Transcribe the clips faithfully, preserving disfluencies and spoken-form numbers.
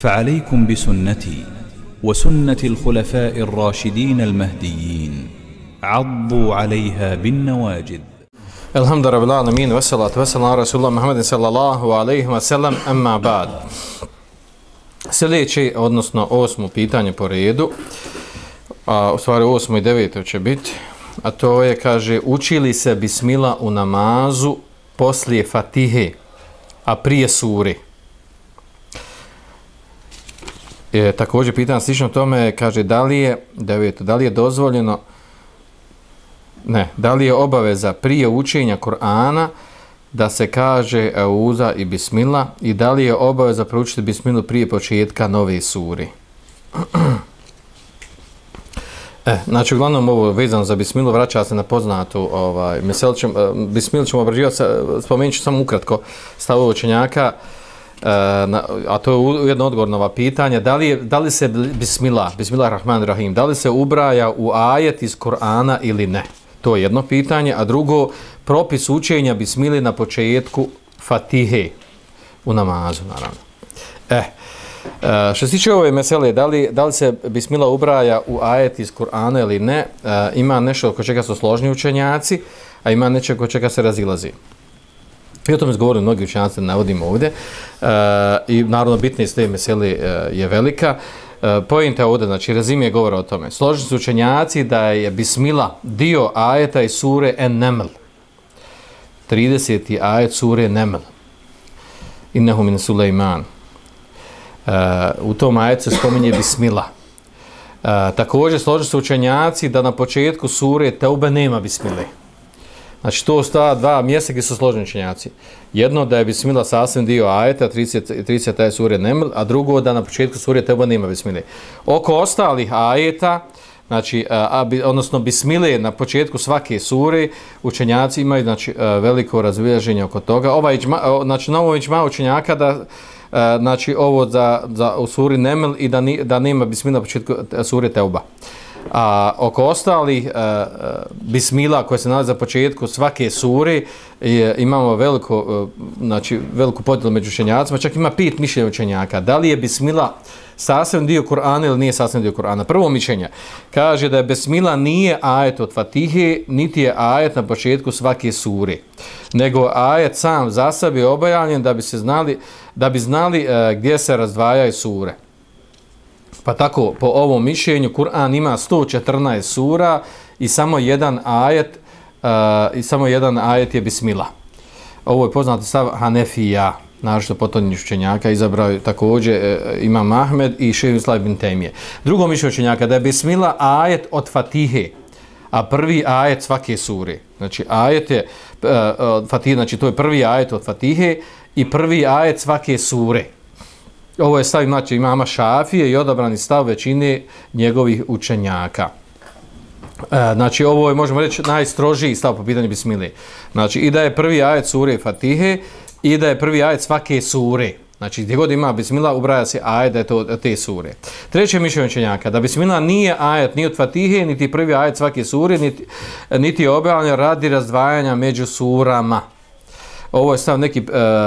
فعليكم بسنتي وسنة الخلفاء الراشدين المهديين عضوا عليها بالنواجذ. الحمد لله رب العالمين والصلاة والسلام على رسول الله محمد صلى الله عليه وسلم أما بعد. Sljedeće, odnosno osmo pitanje po redu, a u stvari osmo i deveto će biti, a to je, kaže, uči li se bismila u namazu poslije Fatihe, a prije sure? E, također pitanje slično tome, kaže, da li je, deveto, da li je dozvoljeno, ne, da li je obaveza prije učenja Kur'ana da se kaže Euza i Bismila i da li je obaveza proučiti Bismilu prije početka nove sure? E, znači, uglavnom ovo vezano za Bismilu vraća se na poznatu ovaj, mesel ćemo, Bismilu ćemo obrađivati, spomenut ću samo ukratko stavu učenjaka, e, na, a to je jedno odgovor na ova pitanja, da li, je, da li se Bismila, Bismillahirrahmanirrahim, da li se ubraja u ajet iz Kur'ana ili ne? To je jedno pitanje, a drugo, propis učenja Bismili na početku Fatihe u namazu, naravno. E, što se tiče ove mesele, da li, da li se Bismila ubraja u ajet iz Kur'ana ili ne, e, ima nešto oko čega su složni učenjaci, a ima nešto oko čega se razilazi. I o tome izgovorili mnogi učenjaci, navodimo ovdje, e, i naravno bitne iz te mesele e, je velika. Pojenta ovdje, znači rezime govora o tome. Složni su učenjaci da je Bismila dio ajeta iz sure En-Neml. trideseti ajet sure Neml. Innehu min Sulejman. Uh, u tom ajetu se spominje Bismila. Uh, također složni su učenjaci da na početku sure Teube nema Bismile. Znači to sta dva mjesta gdje su složeni učenjaci. Jedno da je Bismila sasvim dio ajeta, trideseti ajet sure Neml, a drugo da na početku sure Teube nema Bismile. Oko ostalih ajeta, znači, a, odnosno Bismile na početku svake sure, učenjaci imaju, znači, veliko razviježenje oko toga. Ovaj iđma, znači, na ovo iđma učenjaka da, znači, ovo za, za u suri Neml i da, ni, da nema Bismila na početku sure Teuba. A oko ostalih uh, Bismila koje se nalaze za početku svake sure je, imamo veliko, uh, znači, veliku podjelu među učenjacima, čak ima pet mišljenja učenjaka. Da li je Bismila sasvim dio Kur'ana ili nije sasvim dio Kur'ana? Prvo mišljenje kaže da je Bismila nije ajet od Fatihe, niti je ajet na početku svake sure, nego ajet sam za sebe objavljen da bi se znali, da bi znali uh, gdje se razdvajaju sure. Pa tako, po ovom mišljenju, Kur'an ima sto četrnaest sura i samo jedan ajet, uh, i samo jedan ajet je Bismila. Ovo je poznati stav Hanefija, naročito potonjih učenjaka, izabrao također uh, Imam Ahmed i Šejh Islam ibn Tejmije. Drugo mišljenje učenjaka da je Bismila ajet od Fatihe, a prvi ajet svake sure. Znači, ajet je uh, od Fatihe, znači to je prvi ajet od Fatihe i prvi ajet svake sure. Ovo je stav, znači, imama Šafije i odabrani stav većine njegovih učenjaka. E, znači, ovo je, možemo reći, najstrožiji stav po pitanju Bismile. Znači, i da je prvi ajet sure Fatihe i da je prvi ajet svake sure. Znači, gdje god ima Bismila, ubraja se ajet da je to te sure. Treće mišljenje učenjaka, da Bismila nije ajet ni od Fatihe, niti prvi ajet svake sure, niti, niti je objavljen radi razdvajanja među surama. Ovo je stav neki uh,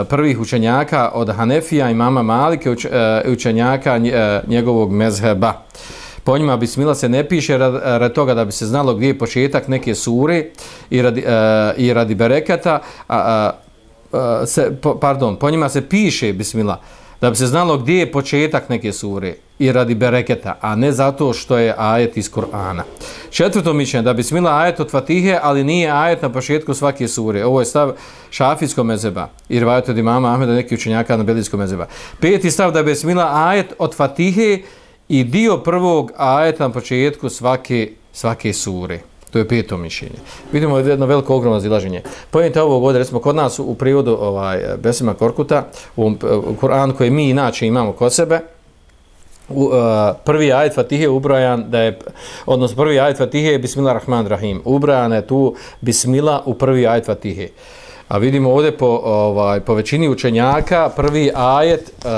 prvih učenjaka od Hanefija i mama Malike, uč, uh, učenjaka uh, njegovog mezheba. Po njima Bismila se ne piše radi, radi toga da bi se znalo gdje je početak neke sure i radi, uh, i radi berekata, uh, uh, se, po, pardon, po njima se piše Bismila da bi se znalo gdje je početak neke sure i radi bereketa, a ne zato što je ajet iz Kur'ana. Četvrto mišljenje, da Bismila ajet od Fatihe, ali nije ajet na početku svake sure. Ovo je stav šafijskog mezheba i rivajet od imama Ahmeda, neki učenjaka na belijskog mezheba. Peti stav, da Bismila ajet od Fatihe i dio prvog ajeta na početku svake, svake sure. To je peto mišljenje. Vidimo jedno veliko ogromno razilaženje. Pojente ovog ovdje, recimo kod nas u prijevodu ovaj, Besima Korkuta, u Kur'anu koji mi inače imamo kod sebe, u, uh, prvi ajet Fatihe je ubrajan, da je, odnosno prvi ajet Fatihe je Bismillahirrahmanirrahim. Ubrajana je tu Bismila u prvi ajet Fatihe. A vidimo ovdje po, ovaj, po većini učenjaka prvi ajet, uh,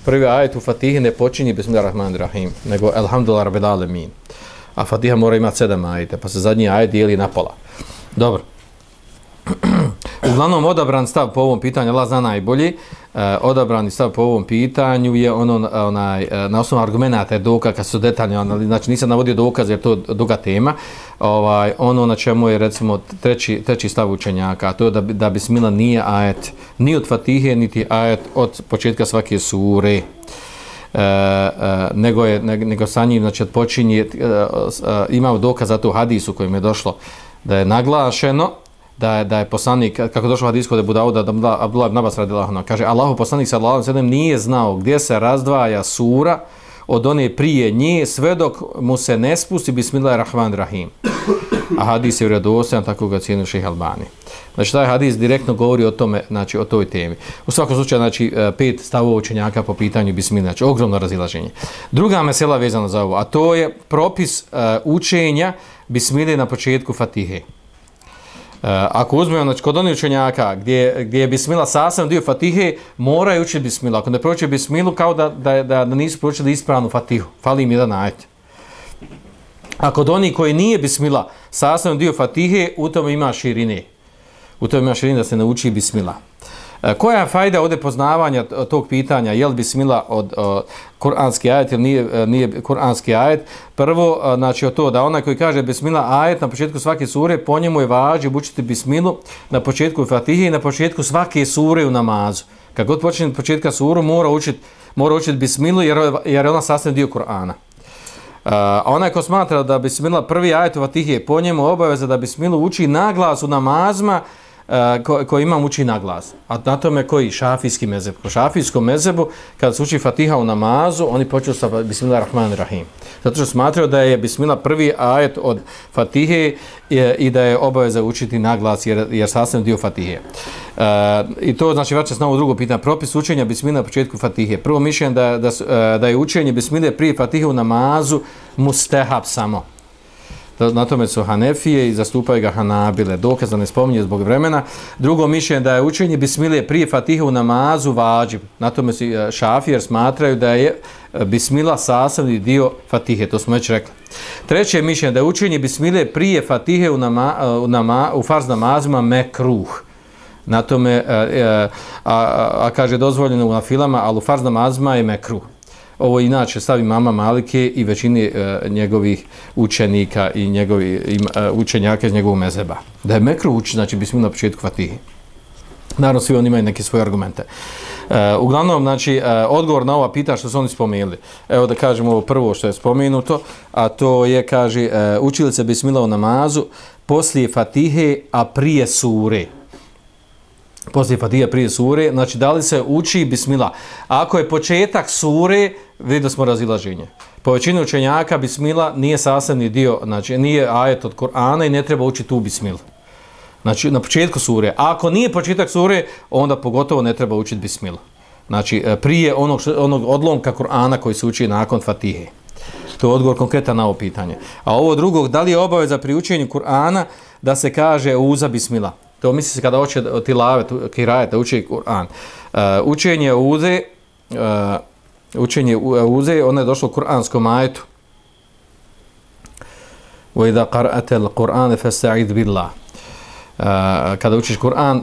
prvi ajet u Fatihe ne počinje Bismillahirrahmanirrahim, nego Elhamdulillah rabbil alemin. A Fatiha mora imati sedam ajeta, pa se zadnji ajet dijeli na pola. Dobro. Uglavnom, odabran stav po ovom pitanju, Allah zna najbolji, uh, odabrani stav po ovom pitanju je ono, onaj, uh, na osnovu argumenata je dokaz, kad su detaljno, znači nisam navodio dokaz jer to je duga tema, ovaj, ono na čemu je recimo treći, treći stav učenjaka, a to je da, da bismila nije ajet, ni od Fatihe, niti ajet od početka svake sure. E, e, nego, je, ne, nego sa njim znači, počinje, e, e, imamo dokaz za to hadisu kojim je došlo da je naglašeno da je, da je poslanik, kako je došlo hadis kod Ebu Dauda, da Abdullah ibn Abbas radijallahu anhu kaže Allahu poslanik sallallahu alejhi ve sellem nije znao gdje se razdvaja sura od one prije nje sve dok mu se ne spusti Bismillahirrahmanirrahim. A hadis je vjerodostojan, tako ga cijeni Šejh Albani. Znači taj hadis direktno govori o tome, znači o toj temi. U svakom slučaju znači pet stavova učenjaka po pitanju bismile, znači ogromno razilaženje. Druga mesela vezana za ovo, a to je propis uh, učenja bismile na početku Fatihe. Uh, ako uzmemo znači, kod onih učenjaka gdje, gdje je bismila sasvim dio Fatihe, moraju učiti bismila. Ako ne proći bismilu, kao da, da, da, da nisu pročili ispravnu Fatihu. Fali im jedan ajet. A kod onih koji nije bismila sasvim dio Fatihe, u tome ima širine. U tome ima širine da se nauči bismila. E, koja je fajda ovdje poznavanja tog pitanja, je li bismila od o, kuranski ajet ili nije, nije kuranski ajet? Prvo, a, znači o to da onaj koji kaže bismila ajet na početku svake sure, po njemu je važno učiti bismilu na početku Fatihe i na početku svake sure u namazu. Kad god počne od početka suru, mora učiti mora učiti bismilu jer, jer je ona sasvim dio Kur'ana. A uh, onaj ko smatra da bismila prvi ajet u Fatihe, po njemu obaveza da bismilu uči na glas u namazima uh, ko, ko imam uči na glas. A na tome koji šafijski mezheb. Po šafijskom mezhebu, kada se uči Fatiha u namazu, oni počnu sa Bismillahirrahmanirrahim. Zato što smatraju da je bismila prvi ajet od Fatihe i, i da je obaveza učiti na glas jer, jer sasvim dio Fatihe. Uh, I to znači vraća se na ovo drugo pitanje. Propis učenja bismile na početku Fatihe. Prvo mišljenje da, da, da je učenje bismile prije Fatihe u namazu mustehab samo. Na tome su Hanefije i zastupaju ga Hanabile. Dokaz da ne spominje zbog vremena. Drugo mišljenje da je učenje bismile prije Fatihe u namazu vađib. Na tome su Šafije jer smatraju da je bismila sastavni dio Fatihe. To smo već rekli. Treće mišljenje da je učenje bismile prije Fatihe u, nama, u, nama, u farz namazima mekruh. Na tome, a, a, a, a kaže dozvoljeno u nafilama, ali u farz namazima je mekruh. Ovo inače stavi mama Malike i većini uh, njegovih učenika i njegovi uh, učenjaka iz njegovog mezheba. Da je mekruh uči, znači bismila na početku Fatihe. Naravno, svi oni imaju neke svoje argumente. Uh, uglavnom, znači, uh, odgovor na ova pitanja što su oni spomenuli. Evo da kažemo ovo prvo što je spomenuto, a to je, kaže, uh, učili se bismila u namazu poslije Fatihe, a prije sure. Poslije Fatiha prije sure, znači da li se uči bismila. Ako je početak sure, vidimo smo razilaženje. Po većini učenjaka bismila nije sastavni dio, znači nije ajet od Kur'ana i ne treba učiti tu bismilu. Znači na početku sure. A ako nije početak sure, onda pogotovo ne treba učiti bismilu. Znači prije onog, onog odlomka Kur'ana koji se uči nakon Fatihe. To je odgovor konkretan na ovo pitanje. A ovo drugog, da li je obaveza pri učenju Kur'ana da se kaže uza bismila? To misli se kada hoće tilave, kirajet, da uči Kur'an. Uh, učenje uze, uh, učenje uze, ono je došlo u kur'anskom ajetu. وَإِذَا قَرْأَتَ الْقُرْآنَ فَاسْتَعِذْ بِاللَّهِ uh, Kada učiš Kur'an,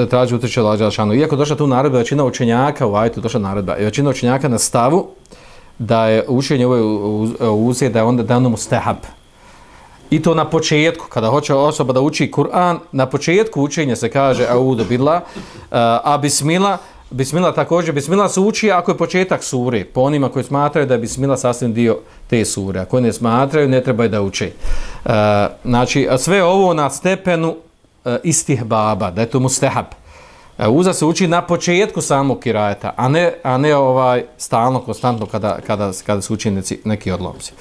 traži utječe Allah Đelešanu. Iako došla tu naredba, većina učenjaka u ajetu došla naredba. I većina učenjaka na stavu da je učenje ove uze, da je onda dano mustehab. I to na početku, kada hoće osoba da uči Kur'an, na početku učenja se kaže audu billah, a bismila, bismila također, bismila se uči ako je početak sure, po onima koji smatraju da je bismila sasvim dio te sure, a koji ne smatraju, ne trebaju da uče. Znači, sve ovo na stepenu istihbaba, da je to mustehab. Uza se uči na početku samog kirajeta, a ne, a ne ovaj stalno, konstantno kada, kada, kada se uči neki, neki odlomci.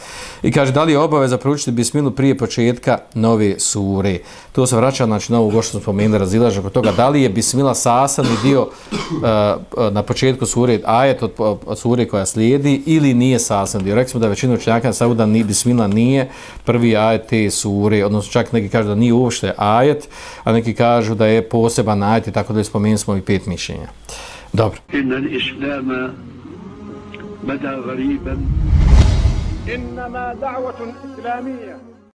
I kaže, da li je obaveza proučiti bismilu prije početka nove sure? To se vraća znači, na ovo što smo spomenuli, razilaže oko toga, da li je bismila sastavni dio uh, na početku sure, ajet od, od sure koja slijedi, ili nije sastavni dio. Rekli smo da većina učenjaka stavu da ni, bismila nije prvi ajet te sure, odnosno čak neki kažu da nije uopšte ajet, a neki kažu da je poseban ajet i tako da je spomenuti smo i pet mišljenja. Dobro. Inna al-islama bada ghariban. Innama da'watun islamiyya